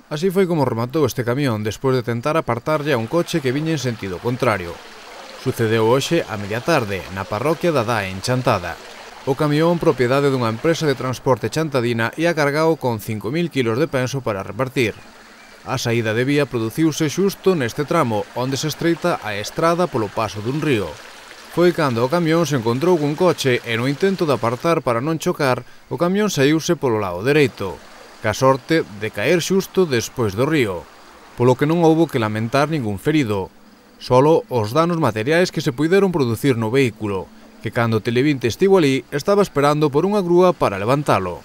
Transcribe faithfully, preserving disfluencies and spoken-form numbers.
Así foi como rematou este camión despois de tentar apartarlle a un coche que viña en sentido contrario. Sucedeu hoxe a media tarde na parroquia da Dae en Chantada. O camión, propiedade dunha empresa de transporte chantadina, ia cargado con cinco mil kilos de penso para repartir. A saída de vía produciuse xusto neste tramo, onde se estreita a estrada polo paso dun río. Foi cando o camión se encontrou cun coche e no intento de apartar para non chocar, o camión saíuse polo lado dereito, ca sorte de caer xusto despois do río, polo que non houbo que lamentar ningún ferido, solo os danos materiais que se puideron producir no vehículo, que cando Televinte estivo ali estaba esperando por unha grúa para levantalo.